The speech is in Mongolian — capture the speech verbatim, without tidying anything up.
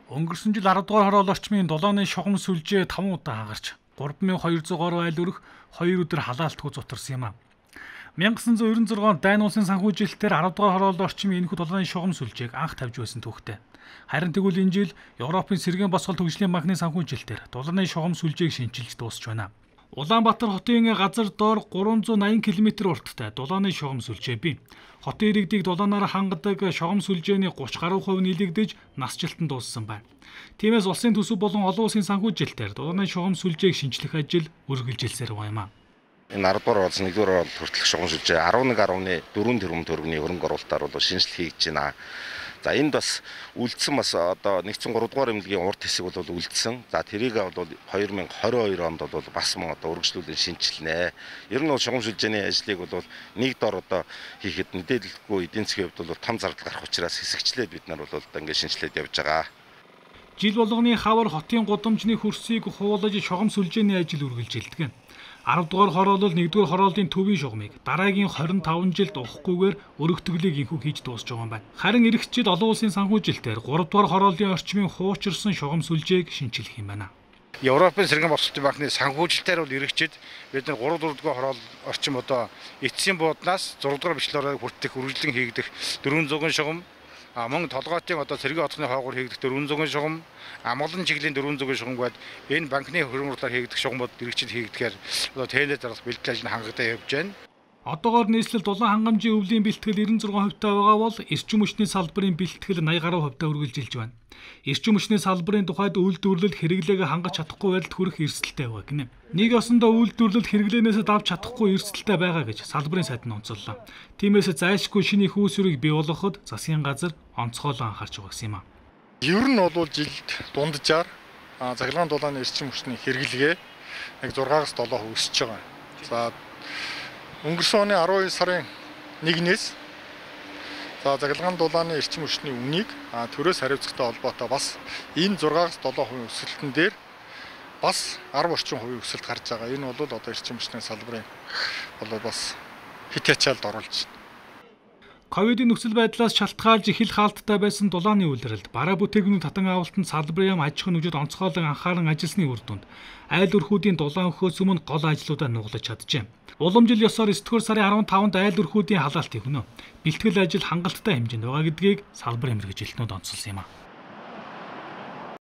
Өнгөрсөн жил арав дугаар хороол орчмын долооны шугам сүлжээ таван удаа хагарч гурван мянган хоёр зуун гаруй айл өрх хоёр өдөр халаалтгүй зутарсан юм а. мянга санаа девяносто шесть онд Дайн улсын санхүүжилтээр арав дугаар хороолд орчмын энэхүү долооны шугам сүлжээг анх тавьж байсан түүхтэй. Харин тэгвэл энэ жил Европын Сэргээн босгол төвжлийн банкны санхүүжилтээр долооны шугам сүлжээг шинчилж дуусч байна. Улаанбаатар хотын газар доор гурван зуун найман километр урттай долооны шугам сүлжээ бий. Хотын иргэдийг долооноор хангадаг шугам сүлжээний гурван гаруй хувь нийлэгдэж насжилтанд дууссан байна. Тиймээс улсын төсөв болон олон улсын санхүүжилтээр долооны шугам сүлжээг шинчлэх ажил үргэлжилсээр байна. Энэ арав дугаар оролцсон нэгдүгээр оролт хүртэлх шугам сүлжээ арван нэг гаруй дөрвөн тэрбум төгрөгийн хөрөнгө оруулалтаар бол шинжлэх хийж байна. За энд бас үлдсэн бас одоо нэгдсэн гурав дугаар эмнэлгийн урд хэсэг бол үлдсэн. За тэрийг бол хоёр мянган двадцать хоёр онд бол бас мөн одоо үргэлжлүүлэн шинжилнэ. Ер нь бол шугам сүлжээний ажлыг бол нэг дор одоо хийхэд мэдээлэлгүй эдийн засгийн хувьд бол том зардал гарах учраас хэсэгчлээд бид нар бол одоо ингээд шинжилээд явж байгаа. Жил болгоны хавар хотын гудамжны хөрсийг хуулаж шугам сүлжээний ажил үргэлжилдэг. арав дугаар хороолол нэгдүгээр хорооллын төвийн шугамыг дараагийн хорин таван жилд ухахгүйгээр өргөтгөлийг инхүү хийж дуусч байгаа юм байна. Харин эх жил олон улсын санхүүжилтээр гурав дугаар хорооллын орчмын хуучирсан шугам сүлжээг шинчилэх юм байна. Европын Сэргээн босгол банкны санхүүжилтээр бол эх жил бид нар гурав дөрөвдүгээр хороол орчим одоо эцсийн бууднаас зураг дугаар бичлэлээр хүртэх үргэлжлэн хийгдэх дөрвөн зуун шугам, мөн толгойтын одоо Сэргээн хотны хойгоор хийгдэх дөрвөн зуун шугам, амгалан чиглийн дөрвөн зуун шугам гээд энэ банкны хөрөнгө оруулалтаар хийгдэх шугамуд иргэжил хийгдэхээр одоо тендер зарлах бэлтгэл ажил хангалттай явж байна. Одоогоор нийслэл дулаан хангамжийн өвлийн бэлтгэл девяносто шесть хувьтай байгаа бол эрчим хүчний салбарын бэлтгэл восемьдесят гаруй хувьтай үргэлжилж байна. Эрчим хүчний салбарын тухайд үйлдвэрлэл хэрэглээгээ хангаж чадахгүй байдалд хүрэх эрсдэлтэй байгаа гинэ. Нэг ёсондоо үйлдвэрлэл хэрэглээнээс давж чадахгүй эрсдэлтэй байгаа гэж салбарын сайд нь онцоллоо. Тиймээс зайлшгүй шинэ их үүсвэрийг бий болгоход засгийн газар онцгойлон анхаарч байгаа юм а. Ер нь бол жилд дунджаар захиргааны дулааны эрчим хүчний хэрэглэгээ яг зургаас долоо хувь өсөж байгаа. За өнгөрсөн оны арван хоёр сарын нэгнээс за захиргааны дулааны эрчим хүчний үнийг төрөөс хариуцлагатай холбоотой бас энэ зургаас долоо хувь өсөлтөн дээр бас арав орчим хувийн өсөлт гарч байгаа. Энэ бол одоо эрчим хүчний салбарын бол бас хит ячаалд оруулж байна. Ковидын нөхцөл байдлаас шалтгаалж их л хаалттай байсан дулааны үйлрэлд бараа бүтээгдэхүүн татан авалтанд салбарын яам аж ахуйн нөхцөлд онцгойлон анхааран ажилласны үр дүнд айл өрхүүдийн дулаан өхөөс өмнө гол ажлуудаа нуглаж чаджээ. Уламжил ёсоор девять дугаар сарын арван таванд айл өрхүүдийн халаалтыг өнөө бэлтгэл ажил хангалттай хэмжээнд байгаа гэдгийг салбарын мэргэжилтнүүд онцолсон юм а.